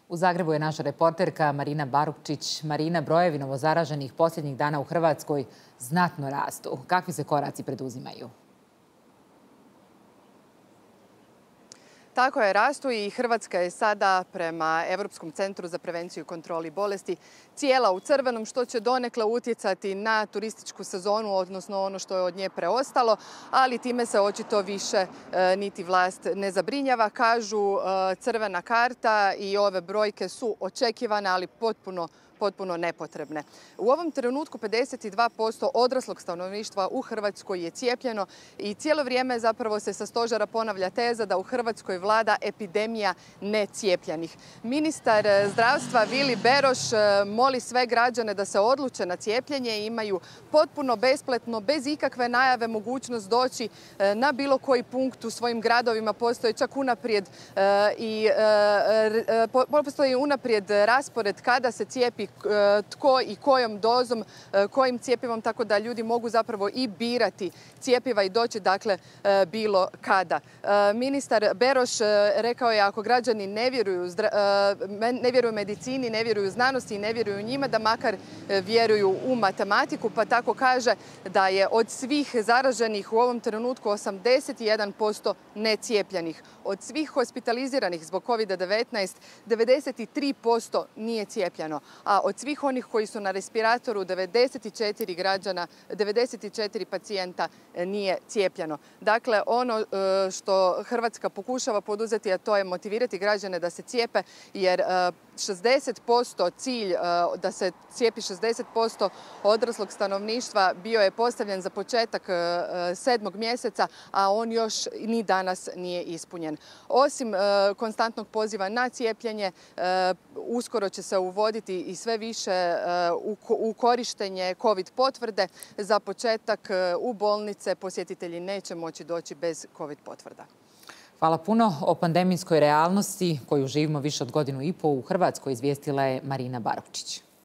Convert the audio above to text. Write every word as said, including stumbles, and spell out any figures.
U Zagrebu je naša reporterka Marina Barukčić. Marina, brojevi novozaraženih posljednjih dana u Hrvatskoj znatno rastu. Kakvi se koraci preduzimaju? Tako je, rastu i Hrvatska je sada prema Europskom centru za prevenciju i kontroli bolesti cijela u crvenom, što će donekle utjecati na turističku sezonu, odnosno ono što je od nje preostalo, ali time se očito više e, niti vlast ne zabrinjava. Kažu e, crvena karta i ove brojke su očekivane, ali potpuno potpuno nepotrebne. U ovom trenutku pedeset dva posto odraslog stanovništva u Hrvatskoj je cijepljeno i cijelo vrijeme zapravo se sa stožera ponavlja teza da u Hrvatskoj vlada epidemija necijepljenih. Ministar zdravstva Vili Beroš moli sve građane da se odluče na cijepljenje i imaju potpuno besplatno, bez ikakve najave, mogućnost doći na bilo koji punkt u svojim gradovima. Postoje čak unaprijed i postoji unaprijed raspored kada se cijepi tko i kojom dozom, kojim cjepivom, tako da ljudi mogu zapravo i birati cjepiva i doći dakle bilo kada. Ministar Beroš rekao je ako građani ne vjeruju, ne vjeruju medicini, ne vjeruju znanosti i ne vjeruju njima, da makar vjeruju u matematiku, pa tako kaže da je od svih zaraženih u ovom trenutku osamdeset jedan posto necijepljenih. Od svih hospitaliziranih zbog kovida devetnaest devedeset tri posto nije cijepljeno, a od svih onih koji su na respiratoru devedeset četiri građana, devedeset četiri pacijenta nije cijepljeno. Dakle, ono što Hrvatska pokušava poduzeti, a to je motivirati građane da se cijepe, jer šezdeset posto cilj da se cijepi šezdeset posto odraslog stanovništva bio je postavljen za početak sedmog mjeseca, a on još ni danas nije ispunjen. Osim konstantnog poziva na cijepljenje, uskoro će se uvoditi i sve više u korištenje COVID potvrde. Za početak u bolnice posjetitelji neće moći doći bez COVID potvrda. Hvala puno. O pandemijskoj realnosti koju živimo više od godinu i pol u Hrvatskoj izvijestila je Marina Barukčić.